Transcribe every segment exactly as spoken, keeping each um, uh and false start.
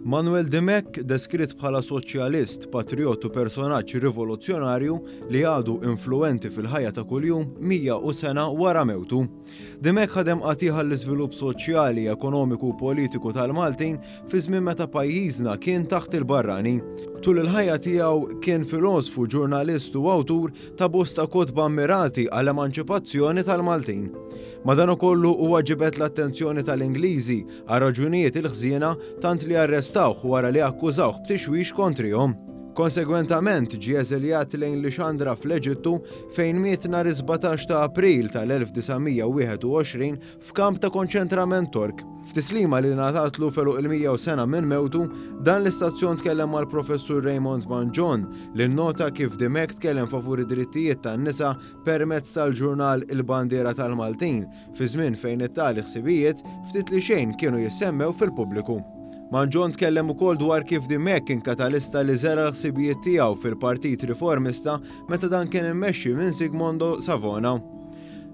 Manuel Dimech deskritt bħala soċjalist, patriot u personaġġ rivoluzzjonarju li għadu influenti fil-ħajja ta' kuljum mija u sena wara mewtu. Dimech ħadem qatigħ l-iżvilupp soċjali, ekonomiku u politiku tal-Maltin fi żmien meta pajjiżna kien taħt il-barrani. Tul il-ħajja tiegħu kien filosfu, ġurnalist u awtur ta' bosta kotba ammirati għall-emanċipazzjoni tal-Maltin. Madankollu huwa ġibed l-attenzjoni tal-Ingliżi għal raġunijiet il-ħżiena tant li arrestawh wara li akkużawh b'tixwix kontrihom. Konsegwentament ġie eżiljat lejn Lixandra fl-Eġittu fejn miet nhar is-sbatax ta' April tal-elf disa' mija u wieħed u għoxrin f'kamp ta' konċentrament Tork. F'tislima li ngħatatlu f'għeluq il-mija u sena minn mewtu, dan l-istazzjon tkellem mal-Professur Raymond Mangion li nnota kif Dimech tkellem favur id-drittijiet tan-nisa permezz tal-ġurnal Il-Bandiera tal-Maltin fi żmien fejn it-tali ħsibijiet ftit li xejn kienu jissemmew fil-pubbliku. Mangion tkellem ukoll dwar kif Dimech kien katalista li żera l-ħsibijiet tiegħu fil-Partit Riformista meta dan kien immexxi minn Sigmondo Savona.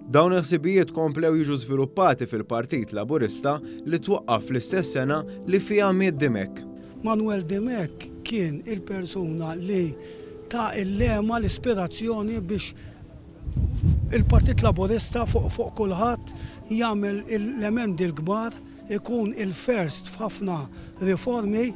Dawn il-ħsibijiet komplew jiġu żviluppati fil-Partit Laburista li twaqqaf fl-istess sena li fiha miet Dimech. Manuel Dimech kien il-persuna li ta' il-lema l-ispirazzjoni biex il-Partit Laburista fuq, fuq kulħadd jagħmel l-emendi l-kbar, ikun il-first f'ħafna riformi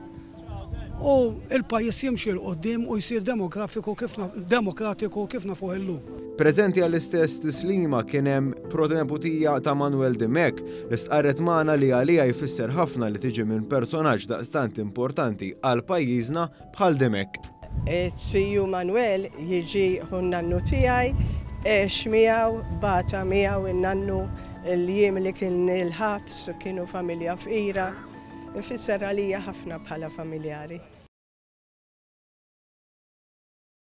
u il-pajjiż jimxi 'l quddiem u jsir demografiku kif na-, demokratiku kif nafuh illum. Preżenti għall-istess tislima kien hemm proneputija ta' Manuel Dimech li stqarret magħna li għalija jfisser ħafna li tiġi minn personaġġ daqstant importanti għal pajjiżna bħal Dimech. Ziju Manuel jiġi ħu n-nannu tiegħi, għex miegħu, bata miegħu in-nannu l-jiem li kien il-ħabs, kienu familja fqira. Ifisser għalija ħafna bħala familjari.